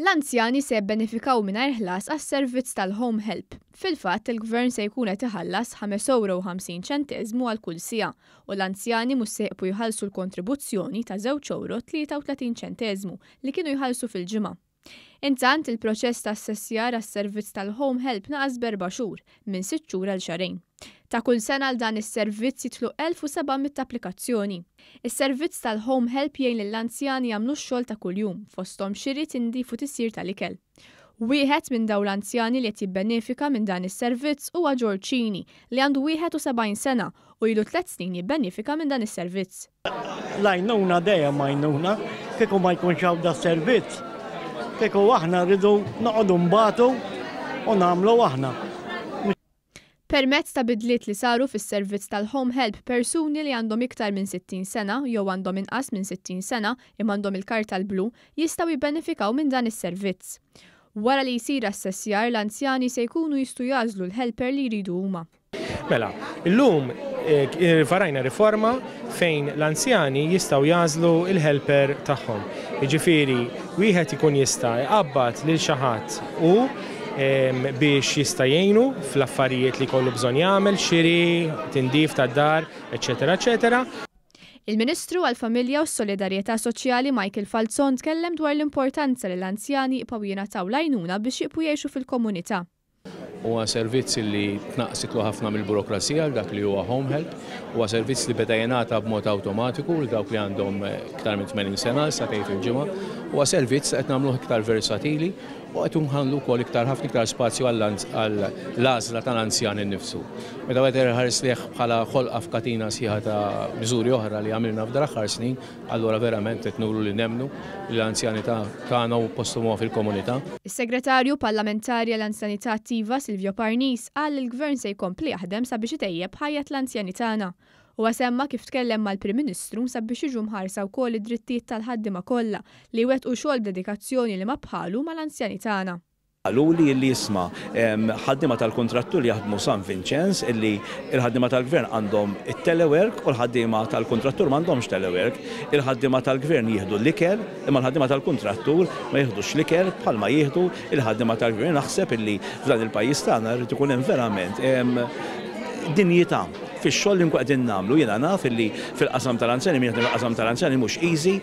L-anzjani se jibbenefikaw mingħajr ħlas għas-servizz tal-home help. Fil-fatt, il-Gvern se jkun qed iħallas ħames ewro u 50 ċenteżmu għal kull siegħa u l-anzjani mhux se jibqu jħallsu l-kontribuzzjoni ta' żewġ ewro 33 ċenteżmu li kienu jħallsu fil-ġimgħa. Intant, il-proċess ta' assessjar għas-servizz tal-home help naqas b'erba' xhur, minn sitt xhur għal xahrejn. Ta' kull sena għal dan is-servizz jidħlu 1,700 applikazzjoni. Is-servizz tal-home help jgħin lill-anzjani jagħmlu x-xogħol ta' kuljum, fosthom xiri, tindif u tisjir tal-ikel. Wieħed minn dawn l-anzjani li qed jibbenefika minn dan is-servizz huwa George Cini, li għandu 71 sena u ilu tliet snin jibbenefika minn dan is-servizz. L-għajnuna dejjem għajnuna, kieku ma jkunx hawn das-servizz, kieku aħna rridu noqogħdu nbatu u nagħmlu aħna. Permezz ta' bidliet li saru fis-servizz tal-home help persuni li għandhom iktar minn 60 sena jew għandhom inqas minn 60 sena imma għandhom il-karta l-blu jistgħu jibbenefikaw minn dan is-servizz. Wara li jsir assessjar l-anzjani se jkunu jistgħu jagħżlu l-helper li jridu huma. Mela, illum varajna riforma fejn l-anzjani jistgħu jagħżlu l-helper tagħhom. Jiġifieri wieħed ikun jista' jqabbad lil xi ħadd hu biex jista' jgħinu fl-affarijiet li jkollu bżonn jagħmel, xiri, tindif tad-dar, eċċetera eċċetera. Il-Ministru għall-Familja u s-Solidarjetà Soċjali Michael Falzon tkellem dwar l-importanza li l-anzjani jibqgħu jingħataw l-għajnuna biex jibqu jgħixu fil-komunità. Huwa servizz li tnaqqsitlu ħafna mill-burokrazija għal dak li huwa home help. Huwa servizz li beda jingħata b'mod awtomatiku lil dawk li għandhom iktar minn 80 sena għal sagħtejn fil-ġimgħa. Huwa servizz li qed nagħmluh iktar versatili u qed nħallu wkoll iktar ħafna iktar spazju għall-għażla tal-anzjan innifsu. Meta wieħed iħares lejh bħala ħolqa f'katina sħiħa ta' miżuri oħra li għamilna f'dan l-aħħar snin, Allura verament qed nuru li nemmnu li l-anzjani tagħna u posthom huwa fil-komunità. Is-Segretarju Parlamentari għall-Anzjanità Attiva Silvio Parnis qal li l-Gvern se jkompli jaħdem sabiex itejjeb ħajjet l-anzjani tagħna. Huwa semma kif tkellem mal-Prim Ministru sabiex jiġu mħarsa wkoll id-drittijiet tal-ħaddiema kollha li jwettqu xogħol b'dedikazzjoni li ma bħalu mal-anzjani tagħna. Qaluli illi isma' ħaddiema tal-kuntrattur li jaħdmu San Vinċenz illi l-ħaddiema tal-Gvern għandhom it-telework u l-ħaddiema tal-kuntrattur m'għandhomx telework. Il-ħaddiema tal-Gvern jieħdu l-ikel imma l-ħaddiema tal-kuntrattur ma jieħdux l-ikel bħalma jieħdu l-ħaddiema tal-Gvern. Naħseb illi f'dan il-pajjiż tagħna jrid ikun hemm verament dinjità fix-xogħol li nkunu qegħdin nagħmlu. Jiena naf illi fil-qasam tal-anzjani min jaħdem fil-qasam tal-anzjani mhux easy.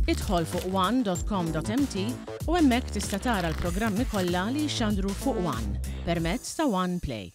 Idħol fuq one.com.mt u hemmhekk tista' tara l-programmi kollha li jixxandru fuq One permezz ta' One Play.